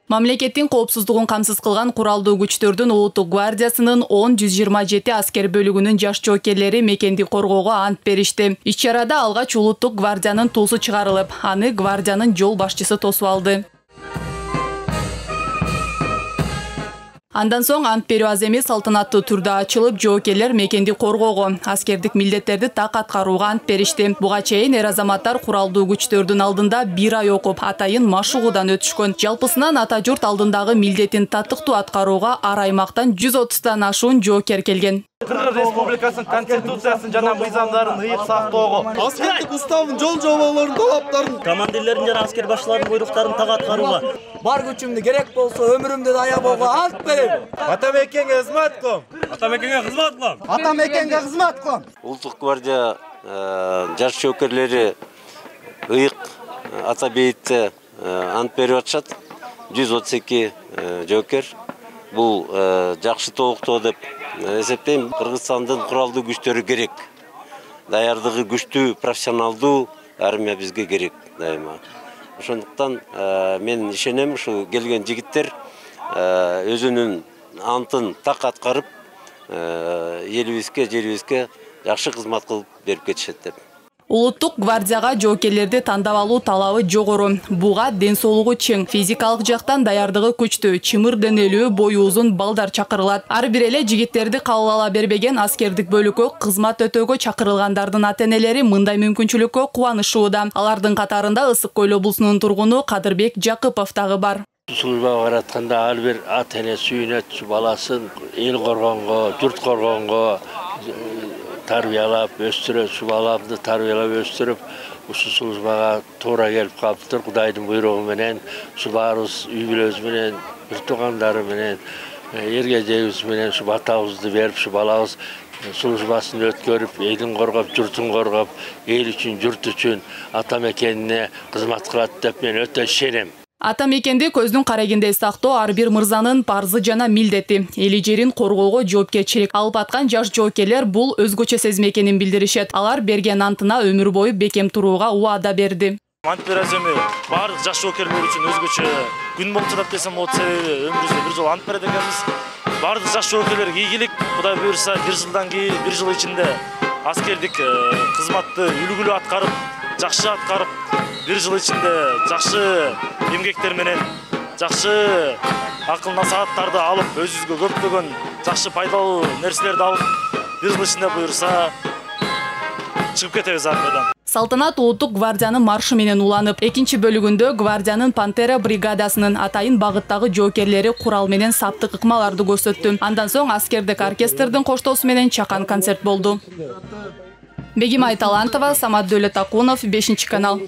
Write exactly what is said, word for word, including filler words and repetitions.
Мамлекеттин коопсуздугун камсыз кылган куралдуу күчтөрдүн Улуттук гвардиясынын он жүз жыйырма жети аскер бөлүгүнүн жаш жоокерлери мекенди коргоого ант беришти. Иш-чарада алгач Улуттук гвардиянын туусу чыгарылып, аны гвардиянын жол башчысы тосуп алды. Андан соң ант берүү аз эмес салтанаттуу түрдө ачылып, жоокерлер мекенди коргоого, аскердик милдеттерди так аткарууга ант беришти. Буга чейин эр азаматтар куралдуу күчтөрдүн алдында бир ай окуп, атайын машыгуудан өтүшкөн. Жалпысынан ата журт алдындагы милдетин татыктуу аткарууга ар аймактан жүз отуздан ашуун жоокер келген. Кыргыз Республикасынын Конституциясын жана мыйзамдарын ыйык сактоого, аскердик уставдын жол жоболорунун талаптарын, командирлердин жана аскер башчыларынын буйруктарын так аткарууга, бар күчүмдү керек болсо өмүрүмдү аябоого ант берем. Ата мекенге кызмат кылам. Ата мекенге кызмат кылам. Ата мекенге кызмат кылам. Улуттук гвардия жаш жоокерлери ыйык ата бейитте ант берип атышат. жүз отуз эки жоокер. Бул жакшы толуктоо деп эсептейм. Кыргызстандын куралдуу күчтөрү керек. Даярдыгы күчтүү, профессионалдуу армия бизге керек дайыма. Ошондуктан мен ишенем, ушу келген жигиттер өзүнүн антын так аткарып, элибизге, жерибизге жакшы кызмат кылып берип кетишет деп. Улуттук гвардияга жоокерлерди тандап алуу талабы жогору. Буга ден соолугу чың, физикалык жактан даярдыгы күчтүү, чымыр денелүү, бою узун балдар чакырылат. Ар бир эле жигиттерди кабыл ала бербеген аскердик бөлүккө кызмат өтөөгө чакырылгандардын ата-энелери мындай мүмкүнчүлүккө кубанышууда. Алардын катарында Ысык Көл облусунун тургуну Кадырбек Жакыпов дагы бар. Службага баратканда ар бир ата-эне сүйүнөт баласын эл коргонго, журт коргонго тарбиялап, өстүрөт, баламды тарбиялап өстүрүп, ушу службага туура келип калыптыр. Кудайдын буйругу менен, ушу баарыбыз үй бүлөбүз менен, бир туугандары менен, эргежебиз менен ушу батабызды берип, ушу балабыз службасын өткөрүп, элин коргоп, журтун коргоп, эл үчүн, журт үчүн ата мекенине кызмат кылат деп мен өтө ишенем. Ата мекенди көздүн карегинде сактоо ар бир мырзанын парзы жана милдети. Эли жерин коргоого жоопкерчилик алып аткан жаш жоокерлер бул өзгөчө сезим экенин билдиришет. Алар берген антына өмүр бою бекем турууга убада берди. Ант бераземи баардык жаш жоокерлер үчүн өзгөчө күн болуп жатат десем болот, себеби өмүрүбүздө бир жолу ант берет экенбиз. Баардык жаш жоокерлерге ийгилик, Кудай буйрса бир жылдан кийин, бир жыл ичинде аскердик кызматты үлгүлүү аткарып, жакшы аткарып, бир жыл ичинде жакшы эмгектер менен жакшы акыл насааттарды алып, өзүбүзгө көптөгөн жакшы пайдалуу нерселерди алып, бир жыл ичинде буйрса чыгып кетебиз армиядан. Салтанат Улуттук гвардиянын маршы менен уланып, экинчи бөлүгүндө гвардиянын Пантера бригадасынын атайын багыттагы жоокерлери курал менен саптык ыкмаларды көрсөттү. Андан соң аскердик оркестрдин коштоосу менен чакан концерт болду. Бегимай Талантова, Самат Дөөлөтакунов, бешинчи канал.